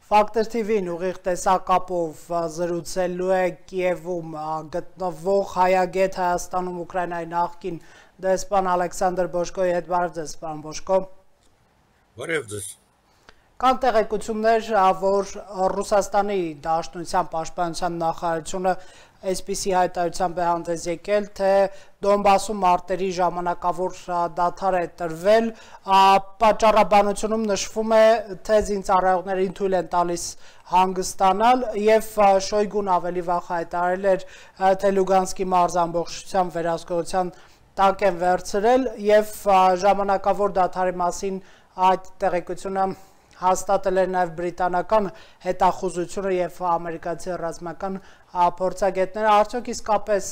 Ֆակտոր TV-ին ուղիղ տեսակապով զրուցելու է Կիևում գտնվող հայագետ Հայաստանում Ուկրաինայի նախկին դեսպան Ալեքսանդր Բոշկոյի հետ։ Բարև ձեզ, պարոն Բոշկո։ Բարև ձեզ։ Կան տեղեկություններ, որ Ռուսաստանի Դաշնության պաշտպանության նախարարությունը այսպիսի հայտարարությամբ է հանդես եկել, թե Դոնբասում մարտերի ժամանակավոր դադար է տրվել, պատճառաբանությունում նշվում է, թե զինծառայողներին թույլ են տալիս հանգստանալ, եւ Շոյգուն ավելի վաղ հայտարարել էր, թե Լուգանսկի մարզ ամբողջությամբ վերահսկողության տակ են վերցրել, եւ ժամանակավոր դադարի մասին այդ տեղեկությունը հաստատել էր նաև բրիտանական հետախուզությունը եւ ամերիկացի ռազմական փորձագետները։ Արդյոք իսկապես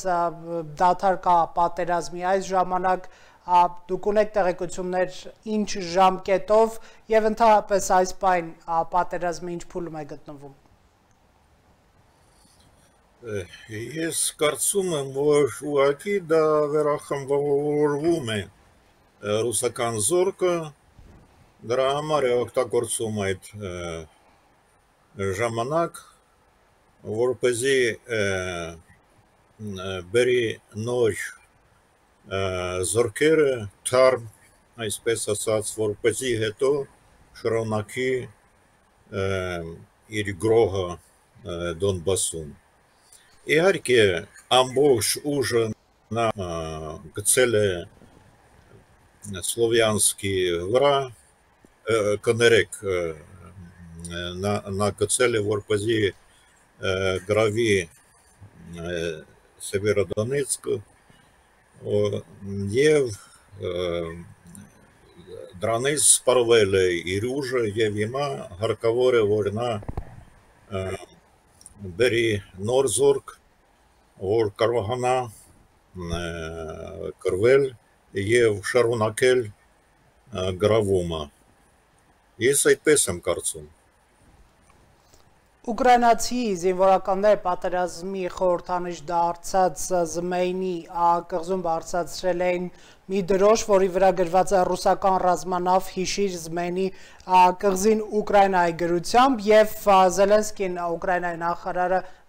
դադար կա պատերազմի այս ժամանակ, դուք ունեք տեղեկություններ ինչ ժամկետով եւ ընդհանրապես այս պայն պատերազմը ինչ փուլում է գտնվում։ Ես կարծում եմ, որ ուղղակի դա վերախմբավորվում է ռուսական զորքը, դրա համար է օգտագործում այդ ժամանակ, որպեսզի բերի նոր զորքերը թարմ, այսպես ասած, որպեսզի հետո շարունակի իր գրոհը Դոնբասում։ Իհարկե, ամբողջ ուժը նա գցել է Սլովյանսկի վրա, կներեք, նա գցել է, որպեսզի գրավի Սևերոդոնեցկը եւ դրանից սպառվել է իր ուժը եւ հիմա հարկավոր է, որ նա բերի նոր զորք, որ կարողանա կրվել եւ շարունակել գրավումը։ Ես այդպես եմ կարծում։ Ուկրաինացի զինվորականները պատերազմի խորհրդանիշ դարձած Զմեյնի կղզում բարձրացրել էին մի դրոշ, որի վրա գրված է ռուսական ռազմանավ հիշիր Զմեյնի կղզին Ուկրաինայի գրությամբ, եւ Զելենսկին, Ուկրաինայի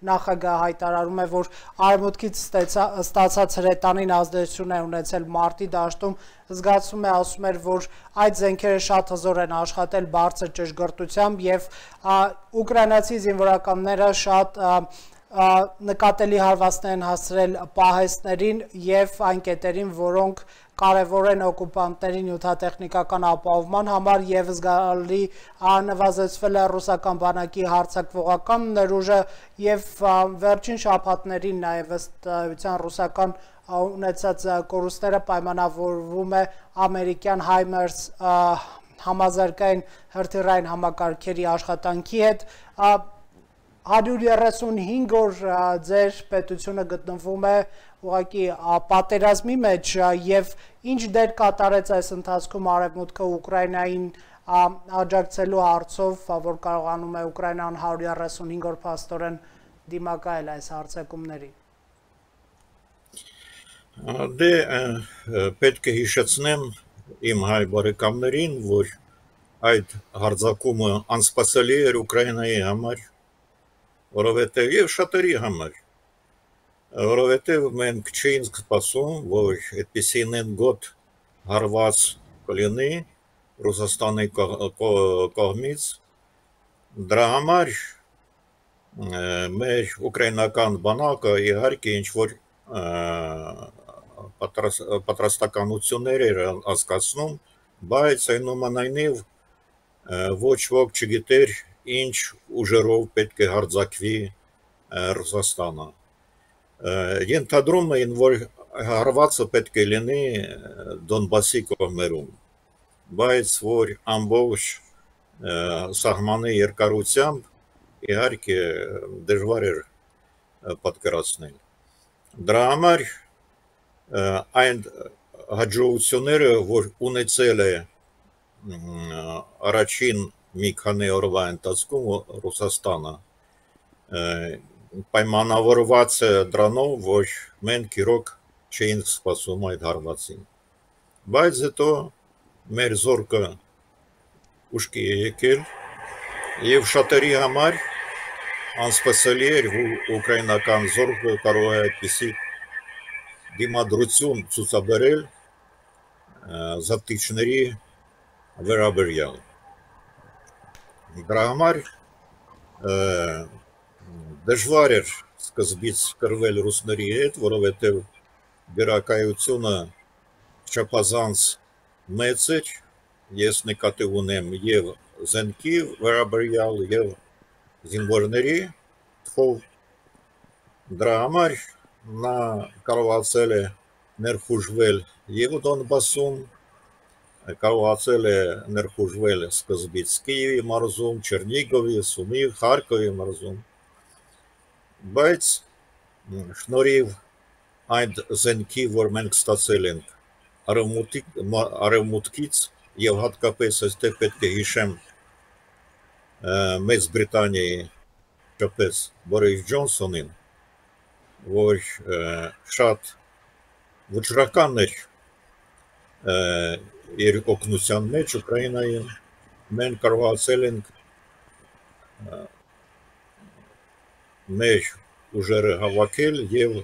նախագահը հայտարարում է, որ արևմուտքից ստացած հրետանին ազդեցություն է ունեցել մարտի դաշտում, զգացում է, ասում էր, որ այդ զենքերը շատ հզոր են աշխատել բարձր ճշգրտությամբ եւ ուկրաինացի զինվորականները շատ նկատելի հարվածներ են հասցրել պահեստներին եւ այն կետերին, որոնք կարևոր են օկուպանտների նյութատեխնիկական ապահովման համար, եւ զգալի նվազեցվել է ռուսական բանակի հարձակվողական ներուժը եւ վերջին շաբաթներին նաեւ ըստ էության ռուսական ունեցած կորուստները պայմանավորվում է ամերիկյան Հայմերս համազարգային հրթիռային համակարգերի աշխատանքի հետ։ 135 օր ձեր պետությունը գտնվում է ուղղակի պատերազմի մեջ եւ ինչ դեր կատարեց այս ընթացքում արևմուտքը Ուկրաինային աջակցելու հարցով, որ կարողանում է Ուկրաինան 135 օր փաստորեն դիմակայել այս հարձակումներին։ Դե պետք է հիշեցնեմ իմ հայ բարեկամներին, որ այդ հարձակումը անսպասելի էր Ուկրաինայի համար, որովհետև եւ շատերի համար, որովհետև մենք չէինք սպասում, որ այդպիսին գոտ հարված կլինի Ռուսաստանի կողմից, դրա համար մեր ուկրաինական բանակը իհարկե ինչ-որ պատրաստականություններ էր անցկացնում, բայց այնուամենայնիվ ոչ ոք չգիտեր ինչ ուժերով պետք է հարձակվի Ռուսաստանը։ Ենթադրում էին, որ հարվածը պետք է լինի Դոնբասի կողմերում, բայց որ ամբողջ սահմանի երկարությամբ իհարկե դժվար էր պատկերացնել։ Դրա համար այն հաջողությունները, որ ունեցել է առաջին մի քանի օրվա ընթացքում Ռուսաստանը, պայմանավորված է դրանով, որ մենք իրոք չէինք սպասում այդ հարվածին։ Բայց հետո մեր զորքը ուշքի է եկել եւ շատերի համար անսպասելի էր, որ ուկրաինական զորքը կարող է այդպիսի դիմադրություն ցուցաբերել զավթիչների վերաբերյալ։ Դրա համար դժվար էր սկզբից կռվել ռուսների հետ, որովհետև դերակայությունը չափազանց մեծ էր, ես նկատի ունեմ եւ զենքի վերաբերյալ եւ զինվորների թվով, դրա համար նա կարողացել է ներխուժվել եւ Դոնբասում, կարողացել է ներխուժվել սկզբից Կիևի մարզում, Չերնիգովի, Սումի, Խարկովի մարզում, բայց շնորհիվ այդ զենքի, որ մենք ստացել ենք արևմուտքից եւ հատկապես այստեղ պետք է հիշեմ Մեծ Բրիտանիայի շփես Բորիս Ջոնսոնին, որ շատ վճռական էր իր օգնության մեջ Ուկրաինային, մենք կարողացել ենք մեր ուժերը հավաքել եւ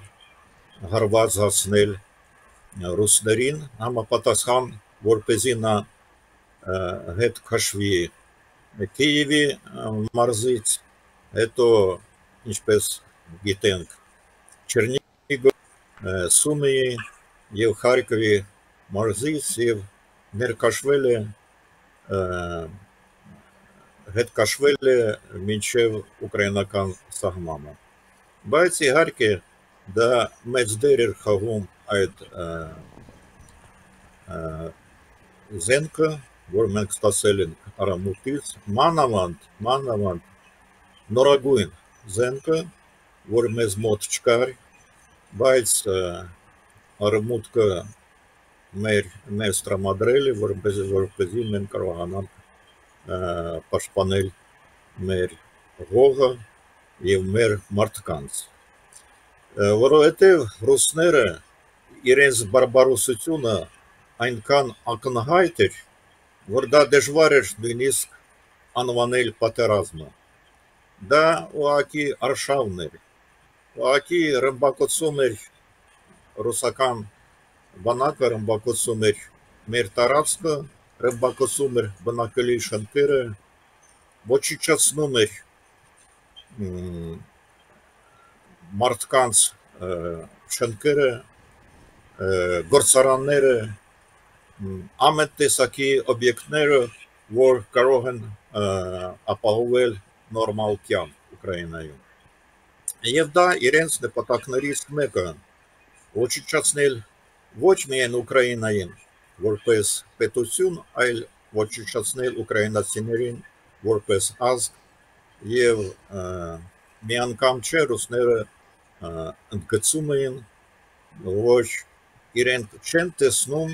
հարված հասնել ռուսներին համապատասխան, որպեսզի նա հետ քաշվի Կիևի մարզից, հետո ինչպես գիտենք Չերնիգով, Սումիի եւ Խարկովի մարզից եւ ներքաշվել է հետ քաշվել է մինչև ուկրաինական սահմանը, բայց իհարկե դա մեծ դեր էր խաղում այդ զենքը, որ մենք ստացել ենք արևմուտքից, մանավանդ նորագույն զենքը, որ մեզ մոտ չկար, բայց արևմուտքը մեզ տրամադրել է, որպեսզի մենք կարողանանք պաշտպանել մեր հողը եւ մեր մարդկանց, որովհետեւ ռուսները իրենց բարբարոսությունը այնքան ակնհայտ էր, որ դա դժվար էր նույնիսկ անվանել պատերազմը, դա ուղղակի արշավն էր, ուղղակի ռմբակոծում էր ռուսական բանակը, ռմբակոծում էր մեր տարածքը, ռմբակոծում էր բնակելի շենքերը, ոչնչացնում էր մարդկանց շենքերը, գործարանները, ամեն տեսակի օբյեկտները, որ կարող են ապահովել նորմալ կյանք Ուկրաինայում։ Եվ դա իրենց նպատակներից մեկը ոչնչացնել ոչ միայն Ուկրաինային որպես պետություն, այլ ոչնչացնել ուկրաինացիներին որպես ազգ եւ մի անգամ չէ ռուսները ընդգծում էին, որ իրենք չեն տեսնում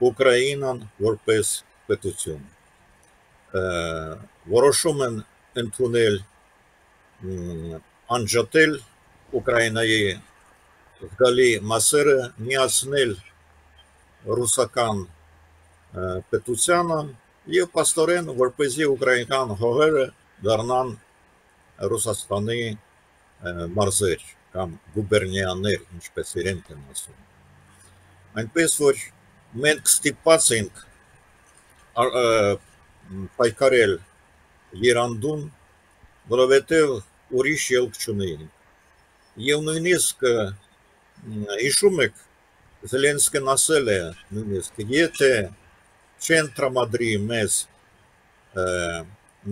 Ուկրաինան որպես պետություն, որոշում են ընդունել անջատել Ուկրաինայի զգալի մասերը, միացնել ռուսական պետությանը եւ պաստորեն, որպեսզի ուկրաինական հողերը դառնան Ռուսաստանի մարզեր կամ գուբերնիաներ, ինչպես իրենք են ասում։ Այնպես որ մենք ստիպված ենք պայքարել երանդուն, որովհետև ուրիշ ելք չունեինք։ Եվ նույնիսկ հիշում եք, Զելենսկին ասել է նույնիսկ, եթե չեն տրամադրի մեզ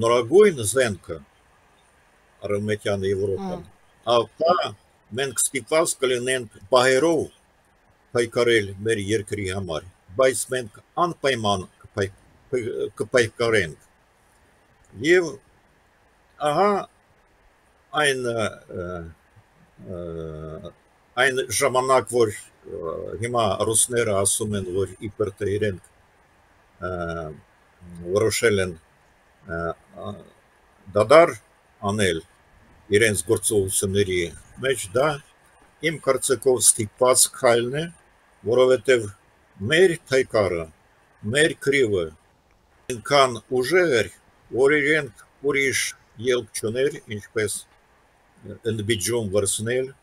նորագույն զենքը Արևմտյան Եվրոպան, ապա մենք ստիպված կլինենք բահերով պայքարել մեր երկրի համար, բայց մենք անպայման կպայքարենք։ Եվ ահա այն ժամանակ, որ հիմա ռուսները ասում են, որ իբր թե իրենք որոշել են դադար անել իրենց գործողությունների մեջ, դա իմ կարծիքով ստիպված քայլն է, որովհետև մեր փայկարը, մեր քրիվը այնքան ուժեղ էր, որ իրենք ուրիշ ելք չուներ, ինչպես ընդբիջում վրցնել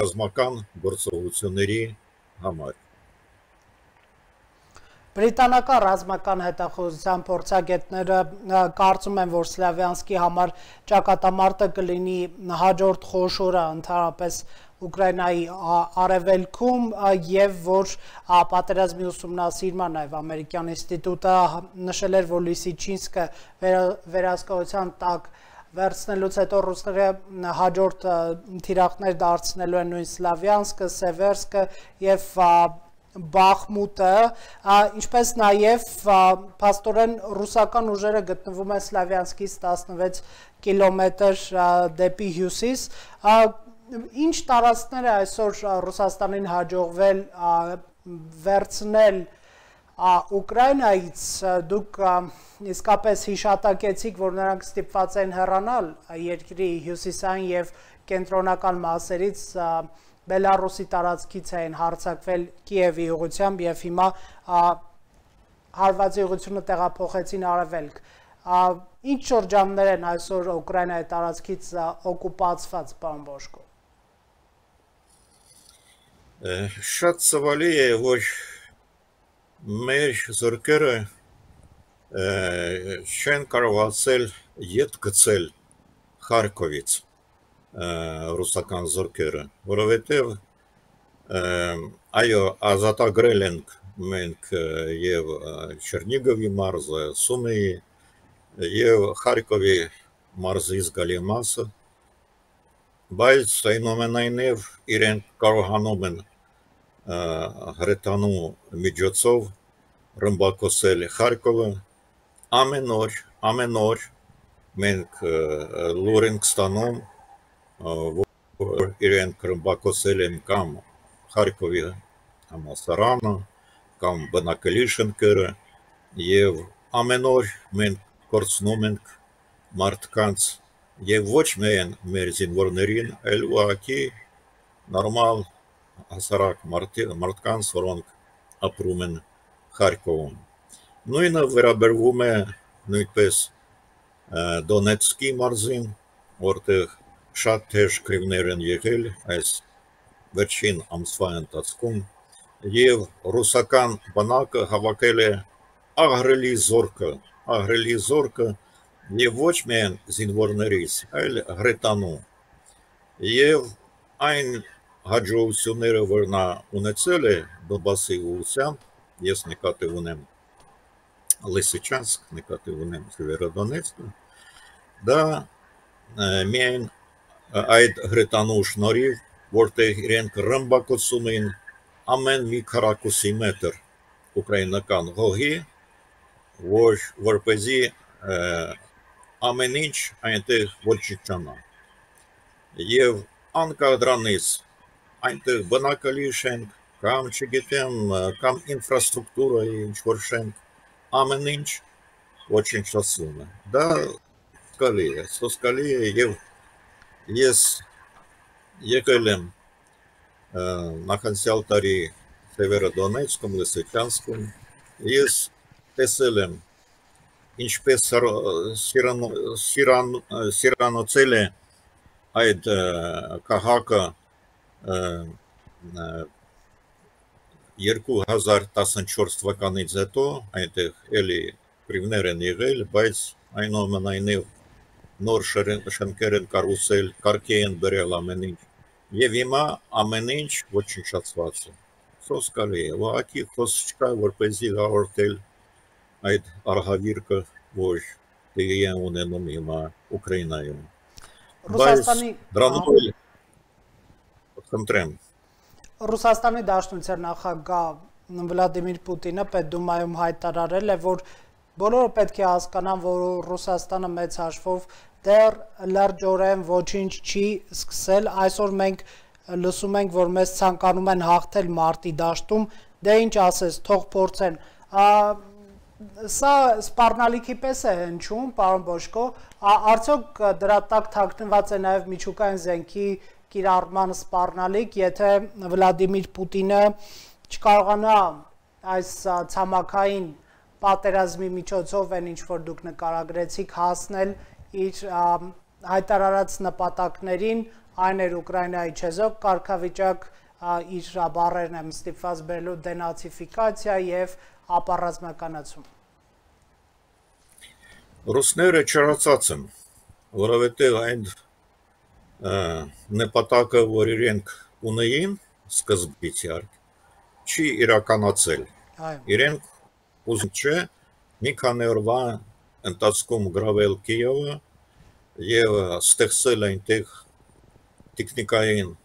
ռազմական գործողությունների համար։ Բրիտանական ռազմական հետախուզության փորձագետները կարծում են, որ Սլավյանսկի համար ճակատամարտը կլինի հաջորդ խոշորը ընդհանրապես Ուկրաինայի արևելքում եւ որ պատերազմի ուսումնասիրման նաեւ ամերիկյան ինստիտուտը նշել էր, որ Լիսիչինսկը վերահսկողության տակ վերցնելուց հետո ռուսները հաջորդ թիրախներ դարձնելու են նույն Սլավյանսկը, Սևերսկը եւ Բախմուտը, ինչպես նաև փաստորեն ռուսական ուժերը գտնվում են Սլավյանսկից 16 կիլոմետր դեպի հյուսիս, ինչ տարածքներ է այսօր Ռուսաստանին հաջողվել վերցնել Ուկրաինայից, դուք իսկապես հիշատակեցիք, որ նրանք ստիպված են հեռանալ երկրի հյուսիսային եւ կենտրոնական մասերից Բելարուսի տարածքից էին հարձակվել Կիևի ուղղությամբ եւ հիմա հարվածի ուղղությունը տեղափոխեցին արևելք։ Ինչ շրջաններ են այսօր Ուկրաինայի տարածքից օկուպացված, պարոն Բոշկո։ Շատ ցավալի է, որ մեր զորքերը չեն կարողացել ետ գցել Խարկովից ռուսական զորքերը, որովհետև այո, ազատագրել ենք մենք եւ Չերնիգովի մարզը, Սումիի եւ Խարկովի մարզի զգալի մասը, բայց այնուամենայնիվ իրենք կարողանում են հրետանու միջոցով ռմբակոծել Խարկովը ամեն օր մենք լուր ենք ստանում, որ իրենք ռմբակոծել են կամ Խարկովի համալսարանը, կամ բնակելի շենքերը եւ ամեն օր մենք կորցնում ենք մարդկանց եւ ոչ միայն մեր զինվորներին, այլ ուղղակի նորմալ հասարակ մարդկանց, որոնք ապրում են Խարկովում։ Նույնը վերաբերվում է նույնպես Դոնեցկի մարզին, որտեղ շատ թեժ քրիվներ են եղել այս վերջին ամսվա ընթացքում եւ ռուսական բանակը հավաքել է ահռելի զորքը եւ ոչ միայն զինվորներից, այլ հրետանու եւ այն հաջողությունները, որ նա ունեցել է Դոնբասի ուղղությամբ, ես նկատի ունեմ Լիսիչանսկ, նկատի ունեմ Սևերոդոնեցկը, դա միայն այդ հրետանու շնորհիվ, որտեղ իրենք ռմբակոծում են ամեն մի քառակուսի մետր ուկրաինական հողի, որպեսզի ամեն ինչ այնտեղ ոչնչանա։ Եվ անկախ դրանից այնտեղ բնակելի շենք, կամ չգիտեմ, կամ ինֆրաստրուկտուրայի ինչ-որ շենք, ամեն ինչ ոչնչացվում է։ Դա սոսկալի է եւ ես եկել եմ նախանցյալ տարի Սևերոդոնեցկում, Լիսիչանսկում, ես տեսել եմ ինչպես սիրանոցել է այդ քաղաքը 2014 թվականից հետո, այնտեղ էլի քրիվներ են եղել, բայց այնուամենայնիվ նոր շենքեր են կառուցել, կարգի են բերել ամեն ինչ, եւ հիմա ամեն ինչ ոչնչացված է։ Սոսկալի է, ուղղակի խոսք չկա, որպեսզի հաղորդել այդ արհավիրքը, որ տեղի է ունենում հիմա Ուկրաինայում։ Ռուսաստանի դրանով էլ խնդրեմ։ Ռուսաստանի Դաշնության նախագահ Վլադիմիր Պուտինը Պետդումայում հայտարարել է, որ բոլորը պետք է հասկանան, որ Ռուսաստանը մեծ հաշվով դեռ լրջորեն ոչինչ չի սկսել, այսօր մենք լսում ենք, որ մեզ ցանկանում են հաղթել մարտի դաշտում, դե ինչ ասես, թող փորձեն։ Սա սպառնալիքի պես է հնչում, պարոն Բոշկո, Արդյոք դրա տակ թաքնված է նաև միջուկային զենքի կիրառման սպառնալիք, եթե Վլադիմիր Պուտինը չկարողանա այս ցամաքային պատերազմի միջոցով այն ինչ որ դուք նկարագրեցիք հասնել իր հայտարարած նպատակներին, այն էր Ուկրաինայի չեզոք կարգավիճակ, իր բառերն եմ ստիպված բերելու դենացիֆիկացիա եւ ապառազմականացում։ Ռուսները չարացած են, որովհետև այն նպատակը, որ իրենք ունեին սկզբից իհարկե, չի իրականացել։ Իրենք ուզում չէ մի քանի օրվա ընթացքում գրավել Կիևը եւ ստեղծել այնտեղ տեխնիկային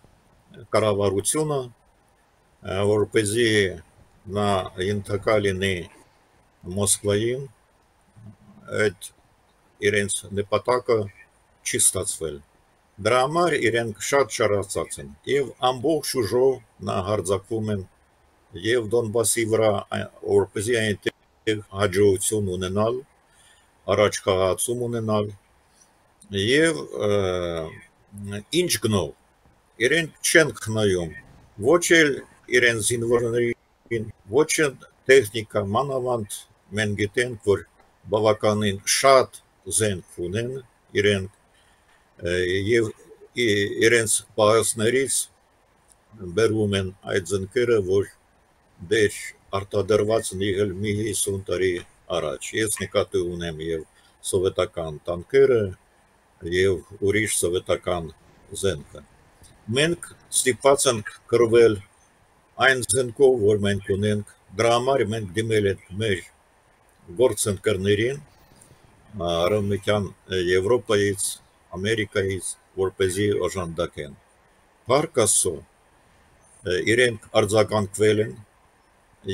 կառավարությունը, որպեսզի նա ենթակա լինի Մոսկվային, այդ իրենց նպատակը չի ստացվել։ Դրա համար իրենք շատ շարացած են եւ ամբողջ ուժով նա հարձակվում են եւ Դոնբասի վրա, որպեսզի այնտեղ հաջողություն ունենալ, առաջ խաղացում ունենալ եւ ինչ գնով իրենք չեն խնայում ոչ էլ իրեն զինվորներին, ոչ էլ տեխնիկա, մանավանդ մենք գիտենք, որ բավականին շատ զենք ունեն իրենք եւ իրենց պահածներից բերում են այդ զենքերը, որ դեր արտադրված են եղել մի 50 տարի առաջ։ Ես նկատի ունեմ եւ սովետական տանկերը եւ ուրիշ սովետական զենքը։ Մենք ստիպված ենք կռվել այն զենքով, որ մենք ունենք, դրա համար մենք դիմել ենք մեր գործընկերներին Արևմտյան Եվրոպայից, Ամերիկայից, որպեսզի օժանդակեն։ Փառք Աստծո, իրենք արձագանքվել են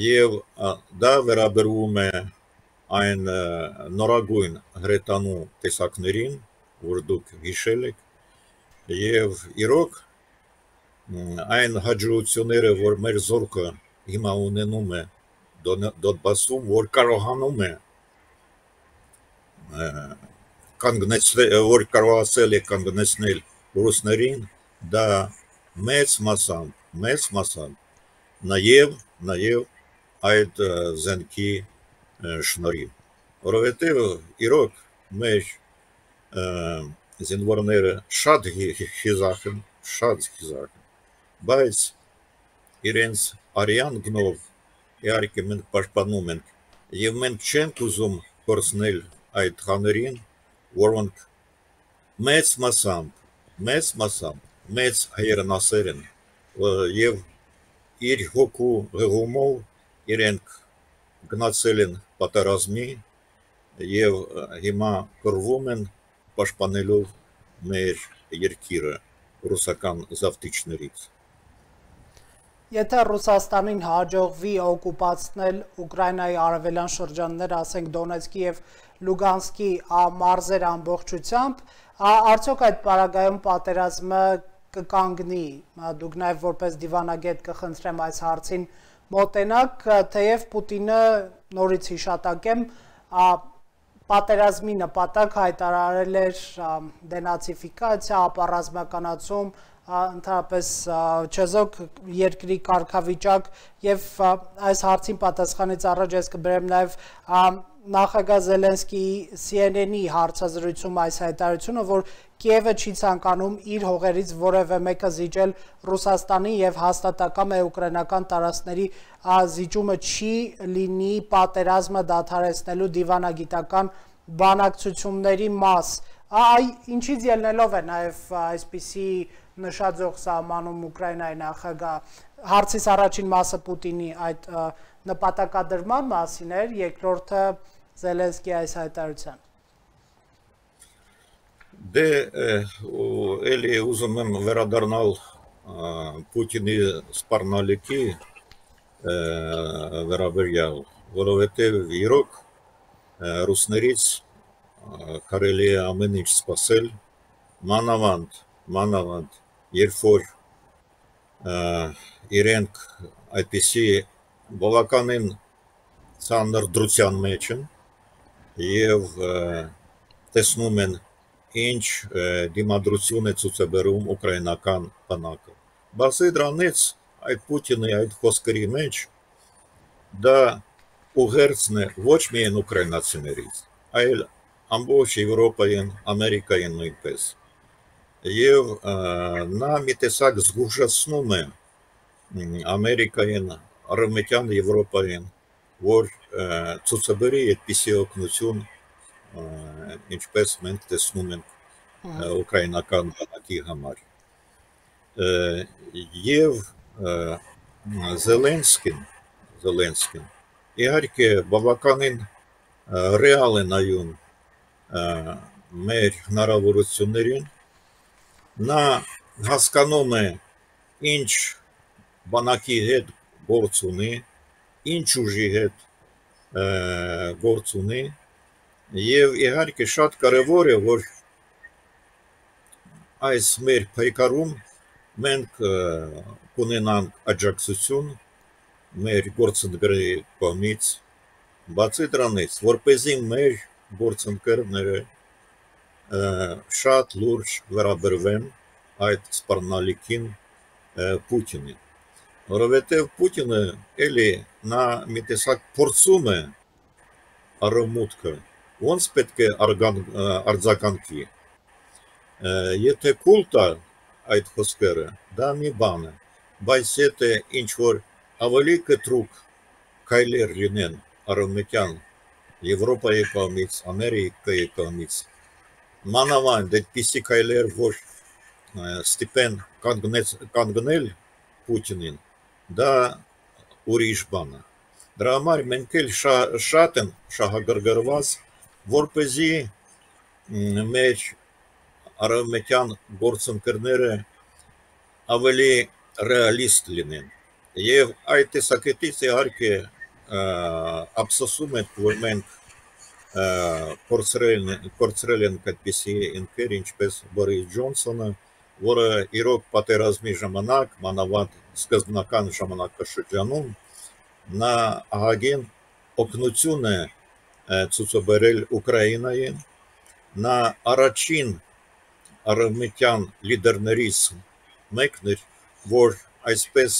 եւ դա վերաբերում է այն նորագույն հրետանու տեսակներին, որ դուք հիշել եք, եւ իրոք այն հաջողությունները, որ մեր զորքը հիմա ունենում է Դոնբասում, որ կարողանում է կանգնեցնել, որ կարողացել է կանգնեցնել ռուսներին, դա մեծ մասամբ նաեւ այդ զենքի շնորհիվ, որովհետև իրոք մեր զինվորները շատ խիզախ են, բայց իրենց արյան գնով իհարկե մենք պաշտպանում ենք եւ մենք չենք ուզում կորցնել այդ խաներին, որոնք մեծ մասամբ մեծ հայրենասեր են եւ իր հոգու հղումով իրենք գնացել են պատերազմի եւ հիմա կռվում են պաշտպանելով մեր երկիրը ռուսական զավթիչներից։ Եթե Ռուսաստանին հաջողվի օկուպացնել Ուկրաինայի արևելյան շրջանները, ասենք Դոնեցկի եւ Լուգանսկի մարզեր ամբողջությամբ, արդյոք այդ պարագայում պատերազմը կկանգնի։ Դուք նաեւ որպես դիվանագետ կխնդրեմ այս հարցին մոտենաք, թեև Պուտինը նորից հիշատակեմ, պատերազմի նպատակ հայտարարել էր դենացիֆիկացիա, ապառազմականացում, ընդհանրապես չեզոք երկրի կարգավիճակ եւ այս հարցին պատասխանից առաջ ես կբերեմ նաեւ նախագահ Զելենսկիի CNN-ի հարցազրույցում այս հայտարարությունը, որ Կիևը չի ցանկանում իր հողերից որևէ մեկը զիջել Ռուսաստանին եւ հաստատակամ է ուկրաինական տարածքների զիջումը չի լինի պատերազմը դադարեցնելու դիվանագիտական բանակցությունների մաս։ Ինչից ելնելով է նաեւ այսպիսի նշաձող սահմանում Ուկրաինայի նախագահ, հարցիս առաջին մասը Պուտինի այդ նպատակադրման մասին էր, երկրորդը Զելենսկիի այս հայտարարության։ Դե էլի ուզում եմ վերադառնալ Պուտինի սպառնալիքի վերաբերյալ, որովհետև իրոք ռուսներից կարելի է ամեն ինչ սպասել, մանավանդ, երբ որ իրենք այդպիսի բավականին ծանր դրության մեջ են եւ տեսնում են ինչ դիմադրություն է ցուցաբերում ուկրաինական բանակը։ Բացի դրանից, այդ Պուտինի այդ խոսքերի մեջ դա ուղերձն է ոչ միայն ուկրաինացիներից, այլ ամբողջ Եվրոպային, Ամերիկային նույնպես։ Եվ նա մի տեսակ զգուշացնում է Ամերիկային, Արևմտյան Եվրոպային, որ ցուցաբերի այդպիսի օգնություն, ինչպես մենք տեսնում ենք ուկրաինական բանակի համար։ Եվ Զելենսկին իհարկե բավականին ռեալ է նայում մեր հնարավորություններին, նա հասկանում է ինչ բանակի հետ գործ ունի, ինչ ուժի հետ գործ ունի, եւ իհարկե շատ կարեւոր է, որ այս մեր փայկարում մենք կունենանք աջակցություն մեր գործընկերների կողմից, բացի դրանից, որպեսզի մեր գործընկերները շատ լուրջ վերաբերվեն այդ սպառնալիքին Պուտինին, որովհետև Պուտինը էլի նա մի տեսակ փորձում է արևմուտքը, ոնց պետք է արձագանքի, եթե կուլ տա այդ խոսքերը, դա մի բան է, բայց եթե ինչ-որ ավելի կտրուկ քայլեր լինեն արևմտյան Եվրոպայի կողմից, Ամերիկայի կողմից, մանավանդ այդպիսի քայլեր, որ ստիպեն կանգնել Պուտինին, դա ուրիշ բան է։ Դրա համար մենք էլ շատ են շահագրգռված, որպեսզի մեր արևմտյան գործընկերները ավելի ռեալիստ լինեն։ Եվ այդ տեսակետից իհարկե ափսոսում ենք, որ մենք կորցրել ենք այդպիսի ինքեր, ինչպես Բորիս Ջոնսոնը, որը իրոք պատերազմի ժամանակ, մանավանդ սկզբնական ժամանակաշրջանում, նա ահագին օգնություն է ցուցաբերել Ուկրաինային, նա առաջին արևմտյան լիդերներից մեկն էր, որ այսպես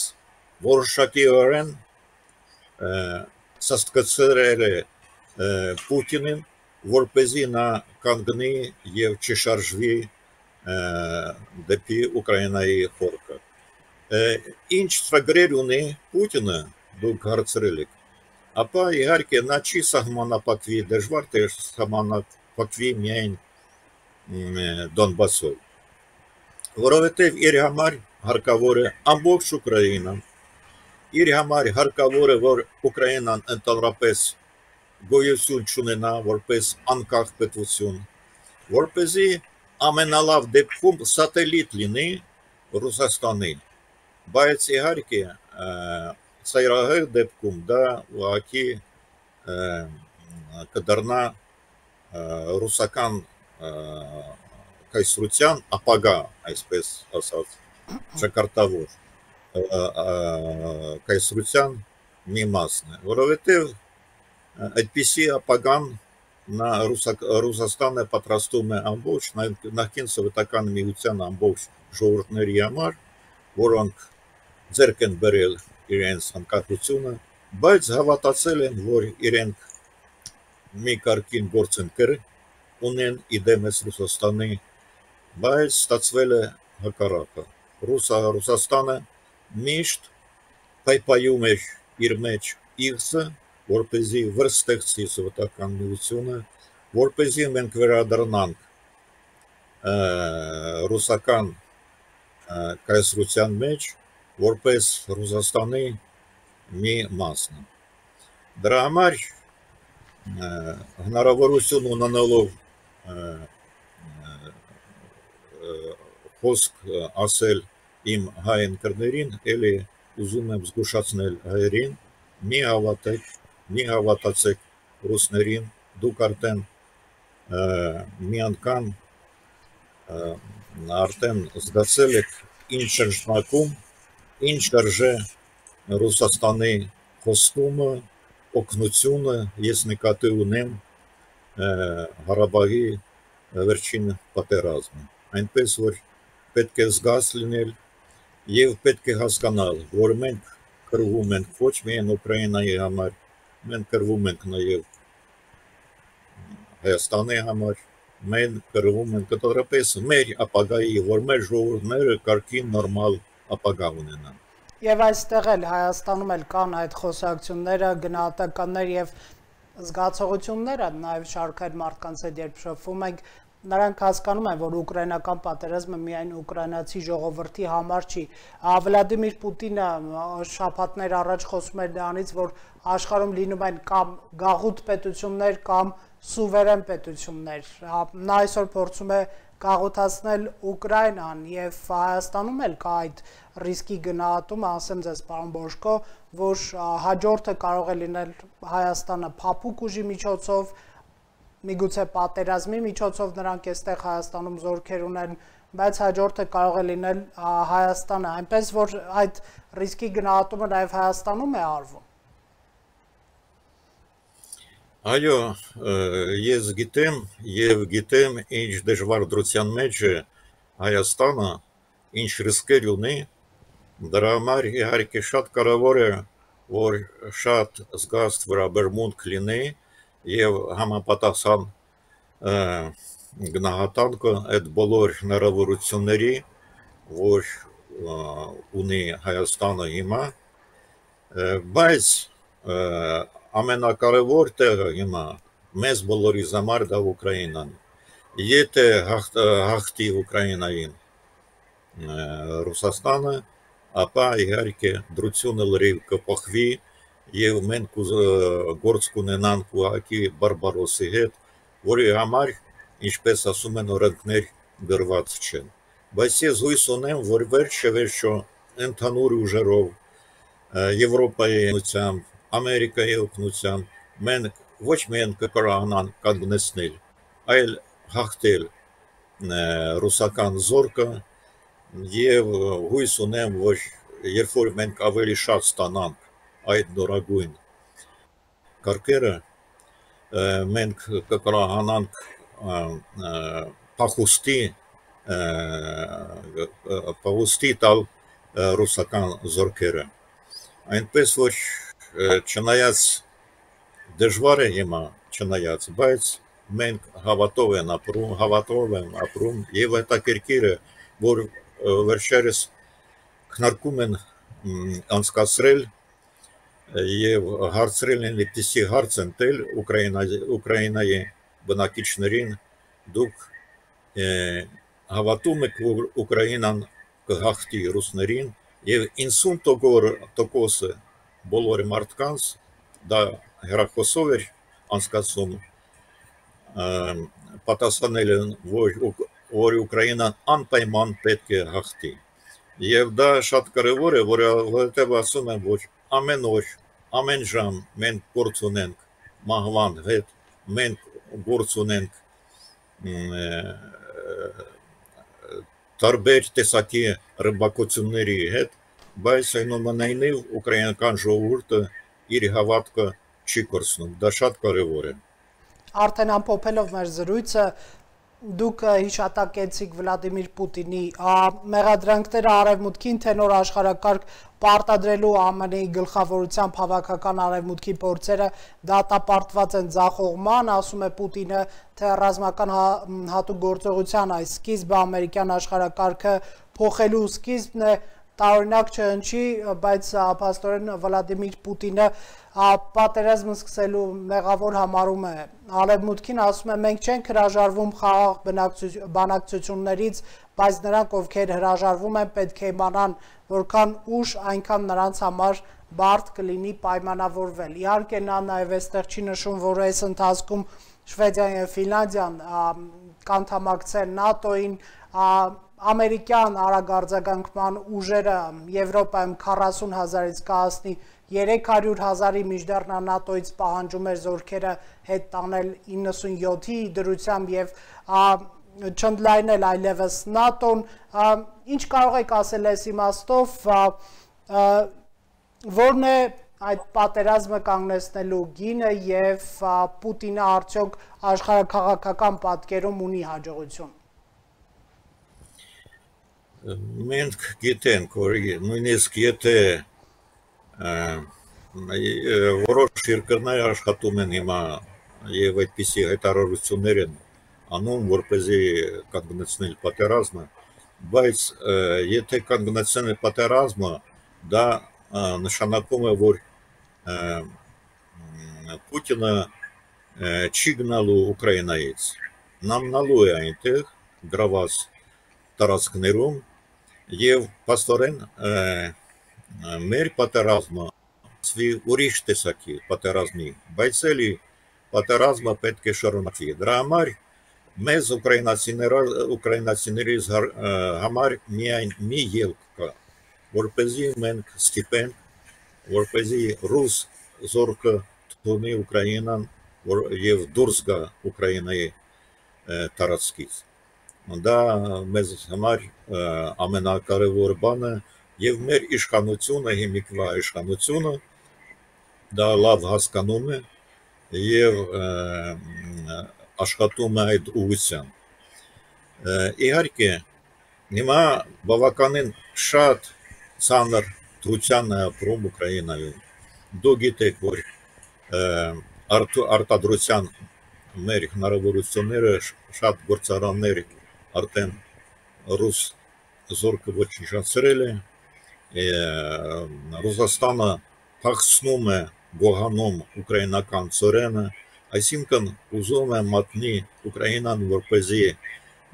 որոշակիորեն սաստկացրել է Պուտինին, որպեսզի նա կանգնի եւ չշարժվի դեպի Ուկրաինայի խորքը։ Ինչ ծրագրեր ունի Պուտինը, դուք հարցրել եք, ապա իհարկե նա չի սահմանափակվի, դժվար թե սահմանափակվի միայն Դոնբասով, որովհետև իր համար հարկավոր է ամբողջ Ուկրաինան, իր համար հարկավոր է, որ Ուկրաինան ընդհանրապես գոյություն չունենա որպես անկախ պետություն, որպեսզի ամենալավ դեպքում սատելիտ լինի Ռուսաստանի, բայց իհարկե ծայրահեղ դեպքում դա ուղղակի կդառնա ռուսական կայսրության ապագա, այսպես ասած, ճակատավոր կայսրության մի մասն է, որովհետև այդպիսի ապագան Ռուսաստանը պատրաստում է ամբողջ նախկին սովետական միության ամբողջ ժողովուրդների համար, որոնք ձեռք են բերել իրենց անկախությունը, բայց հավատացել են, որ իրենք մի կարգին գործընկեր ունեն իդեմս Ռուսաստանի, բայց ստացվել է հակառակը։ Ռուսաստանը միշտ պայպայում էր իր մեջ իղձը, որպեսզի վրստեղծի սովետական միությունը, որպեսզի մենք վերադառնանք ռուսական կայսրության մեջ, որպես Ռուսաստանի մի մասն։ Դրա համար հնարավորություն ունենալով խոսք ասել իմ հայ ընկերներին, էլի ուզում եմ զգուշացնել հայերին, մի հավատացեք ռուսներին, դուք մի անգամ արդեն զգացել եք ինչ շրջանակում, ինչ արժե Ռուսաստանի խոստումը, օգնությունը, ես նկատի ունեմ Ղարաբաղի վերջին պատերազմը։ Այնպես որ պետք է զգաց լինել եւ պետք է հասկանալ, որ մենք կռվում ենք ոչ միայն Ուկրաինայի համար, մենք կռվում ենք նաեւ Հայաստանի համար, մենք կռվում ենք կտորապես մեր ապագայի, որ մեր ժողովուրդները կարգին նորմալ ապագա ունենան։ Եվ այստեղ էլ Հայաստանում էլ կան այդ խոսակցությունները, գնահատականներ եւ զգացողությունները, նաեւ շարքային մարդկանց հետ երբ շփվում ենք, նրանք հասկանում են, որ ուկրաինական պատերազմը միայն ուկրաինացի ժողովրդի համար չի։ Վլադիմիր Պուտինը շաբաթներ առաջ խոսում էր դրանից, որ աշխարհում լինում են կամ գաղութ պետություններ կամ սուվերեն պետություններ։ Նա այսօր փորձում է գաղութացնել Ուկրաինան եւ Հայաստանում էլ կա այդ ռիսկի գնահատումը, ասեմ ձեզ պարոն Բոշկո, որ հաջորդը կարող է լինել Հայաստանը փափուկ ուժի միջոցով, միգուցե պատերազմի միջոցով նրանք այստեղ Հայաստանում զորքեր ունեն, բայց հաջորդը կարող է լինել Հայաստանը, այնպես որ այդ ռիսկի գնահատումը նաեւ Հայաստանում է արվում։ Այո, ես գիտեմ եւ գիտեմ ինչ դժվար դրության մեջ է Հայաստանը, ինչ ռիսկեր ունի, դրա համար իհարկե շատ կարևոր է, որ շատ զգաստ վերաբերմունք լինի եւ համապատասխան գնահատանքը այդ բոլոր հնարավորությունների, որ ունի Հայաստանը հիմա, բայց ամենակարևոր տեղը հիմա մեզ բոլորիս համար դա Ուկրաինան։ Եթե հաղթի Ուկրաինային Ռուսաստանը, ապա իհարկե դրությունը լրիվ կփոխվի եւ մենք գործ կունենանք ուղղակի բարբարոսի հետ, որի համար, ինչպես ասում են, օրենքներ գրված չեն։ Բայց ես հույս ունեմ, որ վերջը ընդհանուր ուժերով Եվրոպայի օգնությամբ, Ամերիկայի օգնությամբ մենք ոչ միայն կկարողանանք կանգնեցնել, այլ հաղթել ռուսական զորքը եւ հույս ունեմ, որ երբ որ մենք ավելի շատ ստանանք այդ նորագույն կարգերը, մենք կկարողանանք փախուստի տալ ռուսական զորքերը։ Այնպես որ չնայած դժվար է հիմա, բայց մենք հավատով են ապրում եւ հետաքրքիր է, որ վերջերս քննարկում են անցկացրել եւ հարցրել են այդպիսի հարց են տել Ուկրաինայի բնակիչներին, դուք հավատում եք, որ Ուկրաինան կհաղթի ռուսներին եւ 90% բոլոր մարդկանց դա հեռախոսով էր անցկացում պատասխանել են, որ Ուկրաինան անպայման պետք է հաղթի։ Եվ դա շատ կարևոր է, որովհետև ասում են, որ ամեն օր, ամեն ժամ մենք գործ ունենք մահվան հետ, մենք գործ ունենք տարբեր տեսակի ռմբակոծությունների հետ, բայց այնուամենայնիվ ուկրաինական ժողովուրդը իր հավատքը չի կորցնում, դա շատ կարևոր է։ Արդեն ամփոփելով մեր զրույցը, դուք հիշատակեցիք Վլադիմիր Պուտինի մեղադրանքները արևմուտքին, թե նոր աշխարհակարգ պարտադրելու ԱՄՆ-ի գլխավորությամբ հավաքական արևմուտքի փորձերը դատապարտված են ձախողման, ասում է Պուտինը, թե ռազմական հատուկ գործողության այս սկիզբը ամերիկյան աշխարհակարգը փոխելու սկիզբն է, տարօրինակ չհնչի, բայց փաստորեն Վլադիմիր Պուտինը պատերազմը սկսելու մեղավոր համարում է արևմուտքին, ասում է մենք չենք հրաժարվում խաղաղ բանակցություններից, բայց նրանք ովքեր հրաժարվում են պետք է իմանան, որքան ուշ այնքան նրանց համար բարդ կլինի պայմանավորվել։ Իհարկե նա նաև այստեղ չի նշում, որ այս ընթացքում Շվեդիան եւ Ֆինլանդիան կանդամակցեն ՆԱՏՕ-ին, ամերիկյան արագարձագանքման ուժերը Եվրոպայում 40,000-ից կհասնի 300,000-ի, մինչդեռ նա ՆԱՏՕ-ից պահանջում էր զորքերը հետ տանել 97-ի դրությամբ եւ չընդլայնել այլևս ՆԱՏՕ-ն։ Ինչ կարող եք ասել այս իմաստով, որն է այդ պատերազմը կանգնեցնելու գինը եւ Պուտինը արդյոք աշխարհաքաղաքական պատկերում ունի հաջողություն։ Մենք գիտենք, որ նույնիսկ եթե որոշ երկրներ աշխատում են հիմա եւ այդպիսի հայտարարություններ են անում, որպեսզի կանգնեցնել պատերազմը, բայց եթե կանգնեցնել պատերազմը, դա նշանակում է, որ Պուտինը չի գնալու Ուկրաինայից, նա մնալու է այնտեղ գրաված տարածքներում եւ փաստորեն մեր պատերազմը ուրիշ տեսակի պատերազմի, բայց էլի պատերազմը պետք է շարունակվի։ Դրա համար մեզ ուկրաինացիներից համար միայն մի ելք կա, որպեսզի մենք ստիպենք, որպեսզի ռուս զորքը թողնի Ուկրաինան եւ դուրս գա Ուկրաինայի տարածքից։ Դա մեզ համար ամենակարևոր բանը եւ մեր իշխանությունը, հիմիկվա իշխանությունը դա լավ հասկանում է եւ աշխատում է այդ ուղղությամբ։ Իհարկե, հիմա բավականին շատ ցաներ դրության է ապրում Ուկրաինայում։ Դու գիտեք, որ արտադրության մեր հնարավորությունները շատ գործարաններ արդեն ռուս զորքը ոչնչացրել է, Ռուսաստանը փախցնում է, գողանում ուկրաինական ծորենը, այսինքն ուզում է մատնի Ուկրաինան, որպեսզի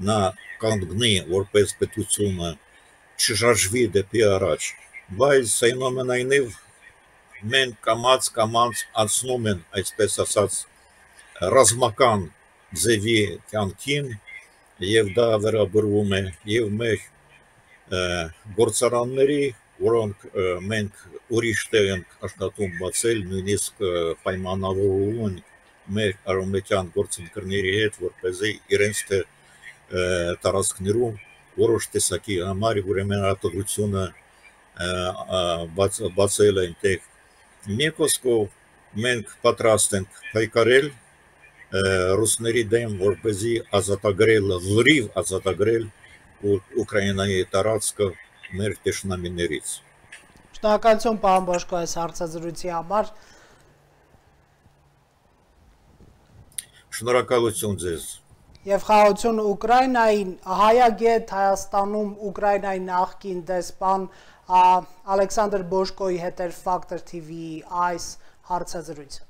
նա կանգնի որպես պետությունը, չշարժվի դեպի առաջ, բայց այնուամենայնիվ մենք կամաց անցնում են, այսպես ասած, ռազմական ձևի կյանքին եւ դա վերաբերվում է եւ մեր գործարանների, որոնք մենք ուրիշ տեղ ենք աշխատում բացել, նույնիսկ պայմանավորվում են մեր արևմտյան գործընկերների հետ, որպեսզի իրենց տարածքներում որոշ տեսակի համար ուրեմն արտադրությունը բացել այնտեղ։ Մի խոսքով մենք պատրաստ ենք պայքարել ռուսների դեմ, որպեսզի ազատագրել, լրիվ ազատագրել Ուկրաինայի տարածքը մեր տեսնամիներից։ Շնորհակալություն պարոն Բոշկո այս հարցազրույցի համար։ Շնորհակալություն ձեզ։ Եվ խաղաղություն Ուկրաինային, հայագետ Հայաստանում Ուկրաինայի նախկին դեսպան Ալեքսանդր Բոշկոյի հետ էր Factor TV-ի այս հարցազրույցը։